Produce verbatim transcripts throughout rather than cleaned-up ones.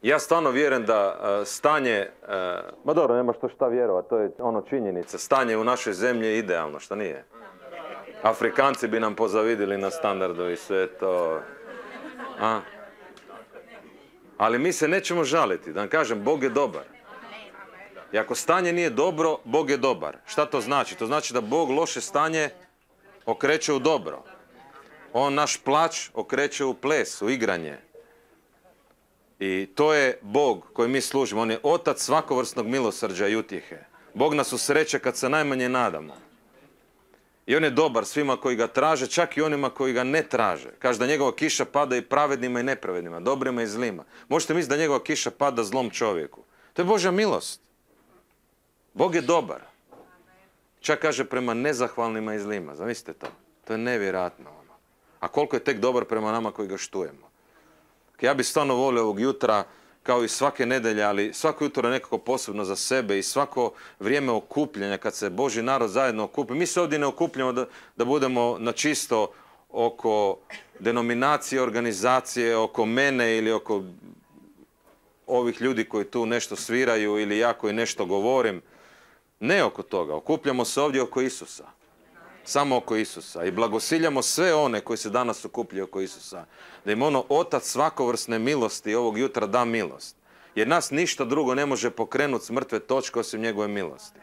Ja stvarno vjerujem da uh, stanje, uh, ma dobro, nema što šta vjerovati, to je ono činjenica. Stanje u našoj zemlji je idealno, što nije? Afrikanci bi nam pozavidili na standardu i sve to. A? Ali mi se nećemo žaliti, da vam kažem, Bog je dobar. I ako stanje nije dobro, Bog je dobar. Šta to znači? To znači da Bog loše stanje okreće u dobro. On naš plać okreće u ples, u igranje. I to je Bog koji mi služimo. On je otac svakovrsnog milosrđa i utjehe. Bog nas usreće kad se najmanje nadamo. I on je dobar svima koji ga traže, čak i onima koji ga ne traže. Kaže da njegova kiša pada i pravednima i nepravednima, dobrima i zlima. Možete misliti da njegova kiša pada zlom čovjeku. To je Božja milost. Bog je dobar. Čak kaže prema nezahvalnima i zlima. Zamislite to. To je nevjerojatno. Ono. A koliko je tek dobar prema nama koji ga štujemo. Ja bih stvarno volio ovog jutra, kao i svake nedelje, ali svako jutro je nekako posebno za sebe i svako vrijeme okupljanja, kad se Božji narod zajedno okupi. Mi se ovdje ne okupljamo da, da budemo na čisto oko denominacije, organizacije, oko mene ili oko ovih ljudi koji tu nešto sviraju ili ja koji nešto govorim. Ne oko toga. Okupljamo se ovdje oko Isusa. Samo oko Isusa. I blagosiljamo sve one koji se danas okupljaju oko Isusa. Da im ono otac svakovrsne milosti ovog jutra da milost. Jer nas ništa drugo ne može pokrenuti s mrtve točke osim njegove milosti.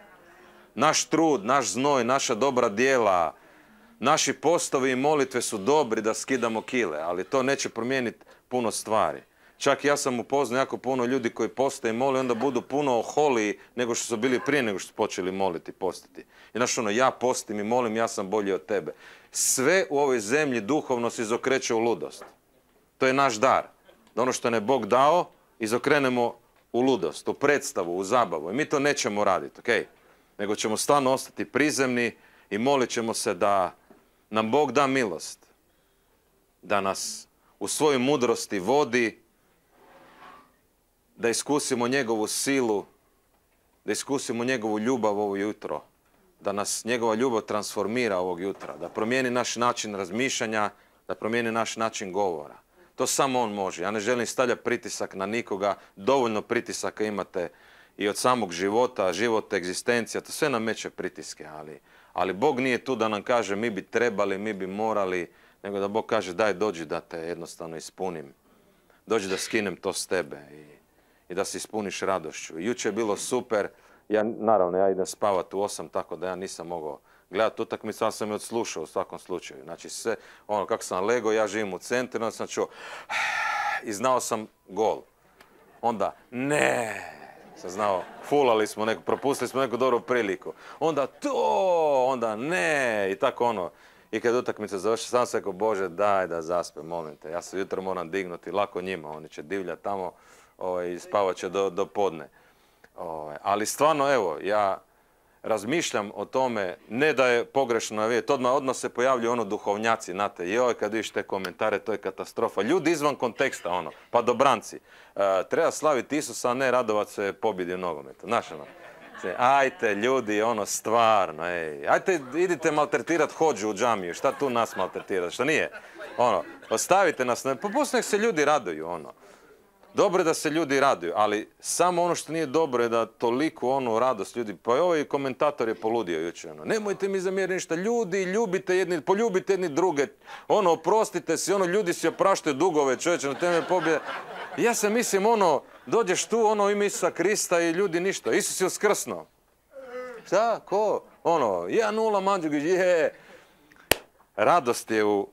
Naš trud, naš znoj, naša dobra djela, naši postovi i molitve su dobri da skidamo kile, ali to neće promijeniti puno stvari. Čak ja sam upoznao jako puno ljudi koji poste i mole, onda budu puno oholiji nego što su bili prije nego što su počeli moliti i postiti. I znaš ono, ja postim i molim, ja sam bolji od tebe. Sve u ovoj zemlji duhovno se izokreće u ludost. To je naš dar. Da ono što ne Bog dao, izokrenemo u ludost, u predstavu, u zabavu. I mi to nećemo raditi, ok? Nego ćemo stvarno ostati prizemni i molit ćemo se da nam Bog da milost. Da nas u svojoj mudrosti vodi, da iskusimo njegovu silu, da iskusimo njegovu ljubav ovo jutro, da nas njegova ljubav transformira ovog jutra, da promijeni naš način razmišljanja, da promijeni naš način govora. To samo on može. Ja ne želim stavljati pritisak na nikoga, dovoljno pritisaka imate i od samog života, život, egzistencija, to sve nameće pritiske, ali, ali Bog nije tu da nam kaže mi bi trebali, mi bi morali, nego da Bog kaže daj dođi da te jednostavno ispunim. Dođi da skinem to s tebe i i da se ispuniš radošću. Jučer je bilo super, ja, naravno ja idem spavati u osam, tako da ja nisam mogao gledati utakmicu, ali sam je odslušao u svakom slučaju. Znači sve, ono kako sam legao, ja živim u centru, onda sam čuo i znao sam gol. Onda ne, sam znao, fulali smo neku, propustili smo neku dobru priliku. Onda to, onda ne, i tako ono. I kad utakmica završi, sam se rekao, Bože, daj da zaspe, molim te. Ja se jutro moram dignuti, lako njima, oni će divljati tamo. Ovaj, spavat će do, do podne. Ovaj, ali stvarno, evo, ja razmišljam o tome, ne da je pogrešno navijeti, odmah, odmah se pojavljuju ono duhovnjaci, znate, joj, kad vidiš te komentare, to je katastrofa. Ljudi izvan konteksta, ono, pa dobranci. E, treba slaviti Isusa, a ne radovat se pobjedi u nogometu. Znaš, ono, ajte, ljudi, ono, stvarno, ej, ajte, idite maltretirati hođu u džamiju, šta tu nas maltretirati, šta nije? Ono, ostavite nas, pa poslije nek se ljudi raduju, ono. Dobro je da se ljudi raduju, ali samo ono što nije dobro je da toliko onu radost ljudi, pa ovaj komentator je poludio jučer, ono, nemojte mi zamjeriti ništa, ljudi, ljubite jedni, poljubite jedni druge, ono, oprostite si, ono, ljudi si opraštaju dugove, čovječe, na temelju pobjede. Ja se mislim, ono, dođeš tu, ono, ime Isusa Krista i ljudi ništa, Isus je uskrsnuo. Šta, ko? Ono, jedan nula Mandžugić, je. Radost je u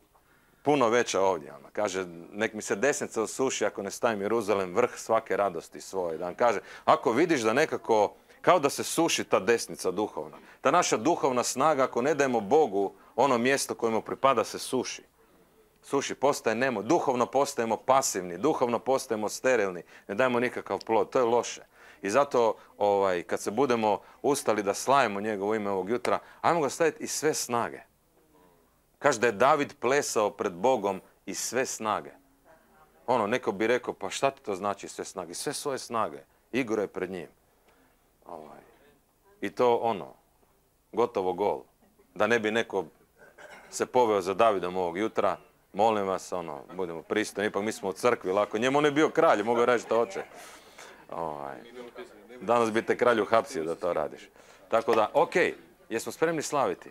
puno veća ovdje. Ona kaže, nek mi se desnica osuši ako ne stavim Jeruzalem vrh svake radosti svoje. Da vam kaže, ako vidiš da nekako, kao da se suši ta desnica duhovna, ta naša duhovna snaga, ako ne dajemo Bogu ono mjesto koje mu pripada, se suši. Suši, postaje nemo, duhovno postajemo pasivni, duhovno postajemo sterilni, ne dajemo nikakav plod, to je loše. I zato, ovaj, kad se budemo ustali da slavimo njegovo ime ovog jutra, ajmo ga staviti iz sve snage. Kaže da je David plesao pred Bogom iz sve snage. Ono, neko bi rekao, pa šta ti to znači sve snage? Sve svoje snage. Igro je pred njim. Ovaj. I to ono, gotovo gol. Da ne bi neko se poveo za Davidom ovog jutra Molim vas, ono, budemo pristojni, ipak mi smo u crkvi, lako. Njemu on je bio kralj, mogu reći što hoće. Ovaj. Danas bi te kralj uhapsio da to radiš. Tako da, okej, jesmo spremni slaviti?